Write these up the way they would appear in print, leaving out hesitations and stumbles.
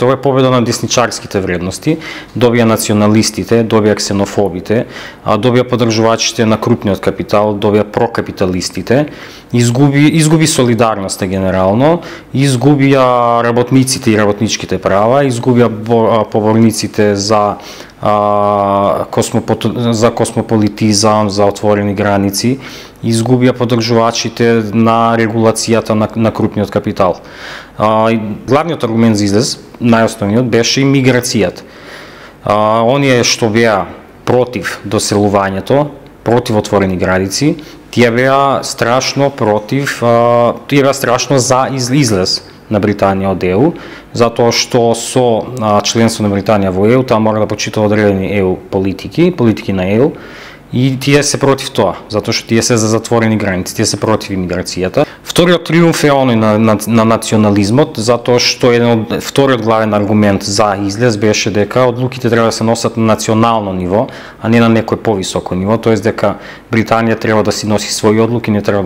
Тоа е победа на десничарските вредности, добија националистите, добија ксенофобите, добија поддржувачите на крупниот капитал, добија прокапиталистите, изгуби солидарноста генерално, изгубија работниците и работничките права, изгубија поборниците за космополитизам, за отворени граници, изгубија поддржувачите на регулацијата на крупниот капитал. Главниот аргумент за излез, најосновниот, беше и миграцијата. Оние што беа против доселувањето, против отворени граници, тие беа страшно за излез на Британија од ЕУ, затоа што со членство на Британија во ЕУ, таа мора да почитува одредени ЕУ политики на ЕУ, и тие се против тоа, затоа што тие се за затворени граници, тие се против имиграцијата. Вториот триумф е оној на национализмот, затоа што вториот главен аргумент за излез беше дека одлуките треба да се носат на национално ниво, а не на некој повисоко ниво, тоест дека Британија треба да си носи своји одлуки, не треба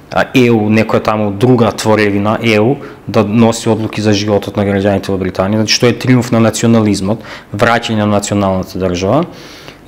да ЕУ, некоја таму друга творевина ЕУ, да носи одлуки за животот на граѓаните во Британија, значи што е триумф на национализмот, враќање на националната држава.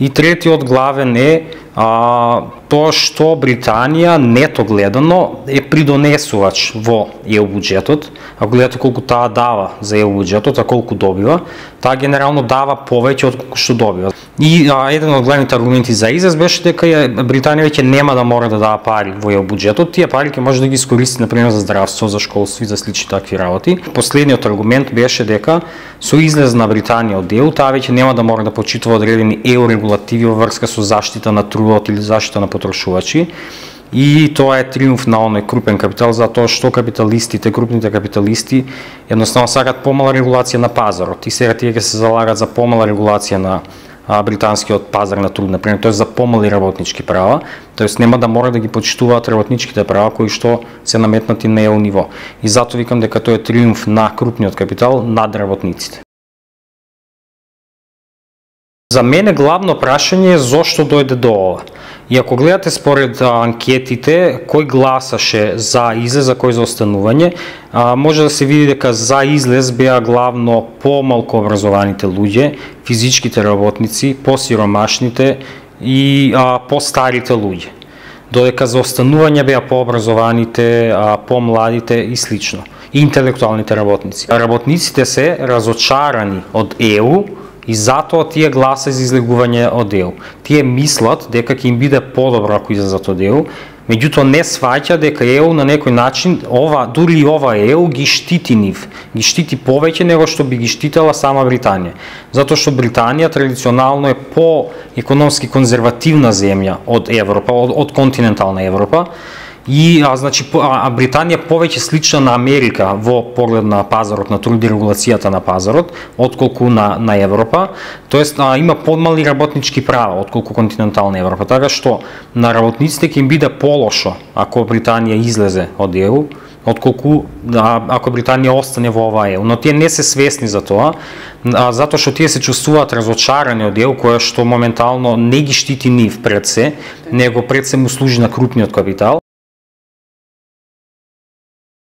И третиот главен е тоа што Британија нето гледано е придонесувач во ЕУ буџетот. Ако гледате колку таа дава за ЕУ буџетот, а колку добива, таа генерално дава повеќе од колку што добива. И еден од главните аргументи за излез беше дека Британија веќе нема да мора да дава пари во ЕУ буџетот, тие пари ќе може да ги искористи например за здравство, за школство и за слични такви работи. Последниот аргумент беше дека со излез на Британија од ЕУ, таа веќе нема да мора да почитува одредени ЕУ регулативи во врска со заштита на трудот или заштита на потрошувачи. И тоа е триумф на оној крупен капитал, затоа што крупните капиталисти едноставно сакат помала регулација на пазарот и сега тие ќе се залагат за помала регулација на британскиот пазар на труд, например, тоест за помали работнички права, тоест нема да мора да ги почитуваат работничките права кои што се наметнати на ЕУ ниво. И затоа викам дека тоа е триумф на крупниот капитал над работниците. За мене главно прашање е зошто дојде до ова. И ако гледате според анкетите, кој гласаше за излез, за кој за останување, може да се види дека за излез беа главно помалку образованите луѓе, физичките работници, посиромашните и постарите луѓе. Додека за останување беа пообразованите, помладите и слично. И интелектуалните работници. Работниците се разочарани од ЕУ, и затоа тие гласа за излегување од ЕУ. Тие мислат дека ќе им биде подобро ако излезат од ЕУ, меѓутоа не сваќа дека ЕУ на некој начин, дури и ова ЕУ ги штити нив, ги штити повеќе него што би ги штитела сама Британија. Затоа што Британија традиционално е по-економски конзервативна земја од Европа, од континентална Европа, и значи Британија повеќе слична на Америка во поглед на пазарот на труд и регулацијата на пазарот отколку на Европа, тоест има подмали работнички права отколку континентална Европа, така што на работниците ќе им биде полошо ако Британија излезе од ЕУ отколку ако Британија остане во ова ЕУ, но тие не се свесни за тоа, затоа што тие се чувствуваат разочарани од ЕУ, која што моментално не ги штити нив пред се, него пред се му служи на крупниот капитал.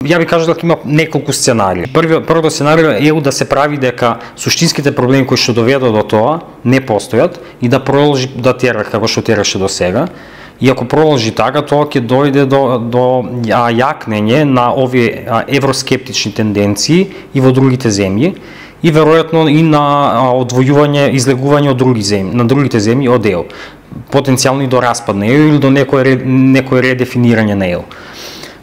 Ја би кажал дека има неколку сценарии. Првото сценарио е ЕУ да се прави дека суштинските проблеми кои што доведоа до тоа не постојат и да продолжи да тера како што тераше до сега. И ако продолжи така, тоа ќе дојде до јакнење на овие евроскептични тенденции и во другите земји и веројатно и на одвојување, излегување од другите земји од ЕУ. Потенцијално и до распад на ЕУ или до некој редефинирање на ЕУ.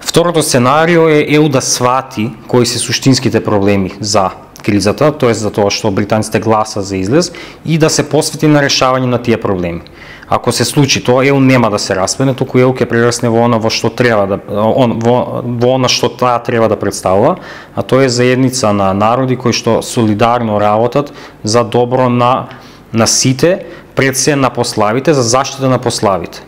Второто сценарио е ЕУ да свати кои се суштинските проблеми за кризата, тоест за тоа што британците гласа за излез и да се посвети на решавање на тие проблеми. Ако се случи тоа, ЕУ нема да се распадне, туку ЕУ ќе прерасне во она што таа треба да представува, а тоа е заедница на народи кои што солидарно работат за добро на сите, пред се на пославите, за заштита на пославите.